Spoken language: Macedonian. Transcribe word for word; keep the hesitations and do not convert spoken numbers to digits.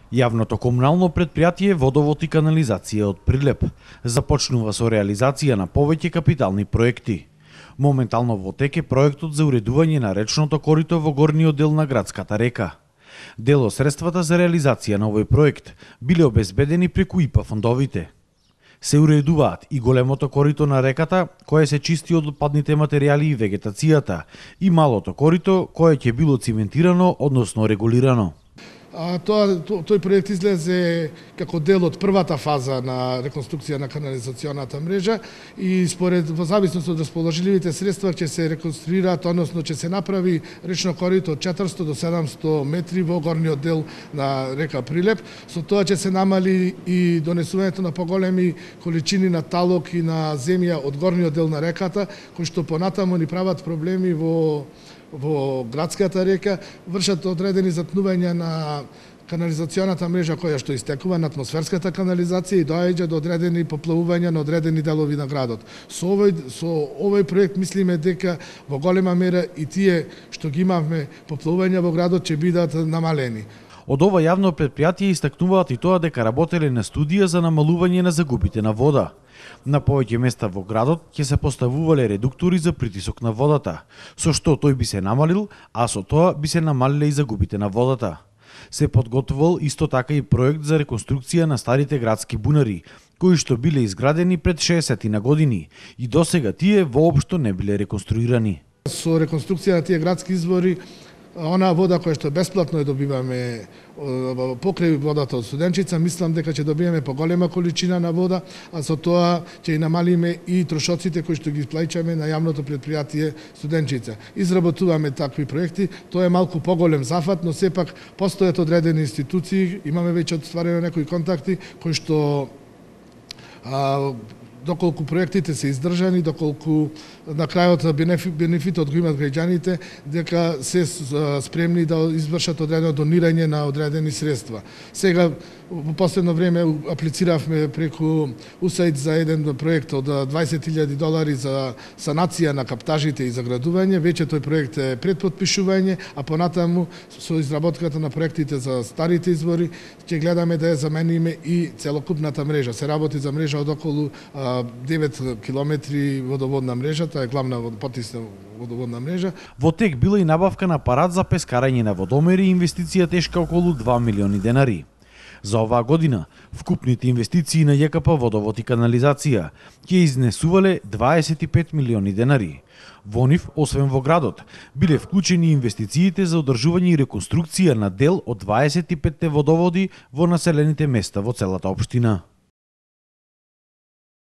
Јавното комунално предпријатие Водовод и канализација од Прилеп започнува со реализација на повеќе капитални проекти. Моментално во тек е проектот за уредување на речното корито во горниот дел на градската река. Дел од средствата за реализација на овој проект биле обезбедени преку ИПА фондовите. Се уредуваат и големото корито на реката, кое се чисти од отпадните материјали и вегетацијата, и малото корито, кое ќе било циментирано, односно регулирано. А тоа тој проект излезе како дел од првата фаза на реконструкција на канализационата мрежа и според во зависност од расположливите средства ќе се реконструираат, односно ќе се направи речно корито од четиристо до седумсто метри во горниот дел на река Прилеп. Со тоа ќе се намали и донесувањето на поголеми количини на талок и на земја од горниот дел на реката, кои што понатаму ни прават проблеми во во градската река, вршат одредени затнувања на канализационата мрежа која што истекува на атмосферската канализација и доаѓа до одредени поплавувања на одредени делови на градот. Со овој со овој проект мислиме дека во голема мера и тие што ги имавме поплавувања во градот ќе бидат намалени. Од ова јавно предпријатие истакнуваат и тоа дека работеле на студија за намалување на загубите на вода. На повеќе места во градот ќе се поставувале редуктори за притисок на водата, со што тој би се намалил, а со тоа би се намалиле и загубите на водата. Се подготвувал исто така и проект за реконструкција на старите градски бунари, кои што биле изградени пред шеесет на години и досега тие воопшто не биле реконструирани. Со реконструкција на тие градски извори, она вода која што бесплатно ја добиваме покрај водата од Студенчица, мислам дека ќе добиеме поголема количина на вода, а со тоа ќе и намалиме и трошоците кои што ги плаќаме на јавното предпријатие Студенчица. Изработуваме такви проекти, тоа е малку поголем зафат, но сепак постојат одредени институции, имаме веќе отстварено некои контакти кои што а, доколку проектите се издржани, доколку на крајот бенефитот го имат граѓаните, дека се спремни да извршат одредено донирање на одредени средства. Сега, во последно време, аплициравме преку УСАИД за еден проект од дваесет илјади долари за санација на каптажите и заградување. Веќе тој проект е пред потпишување, а понатаму со изработката на проектите за старите извори ќе гледаме да ја замениме и целокупната мрежа. Се работи за мрежа од околу девет километри водоводна мрежа, таа е главна потисна водоводна мрежа. Во тек била и набавка на апарат за пескарање на водомери и инвестиција тешка околу два милиони денари. За оваа година, вкупните инвестиции на ЈКП Водовод и канализација ќе изнесувале дваесет и пет милиони денари. Во нив, освен во градот, биле вклучени инвестициите за одржување и реконструкција на дел од дваесет и петте водоводи во населените места во целата општина.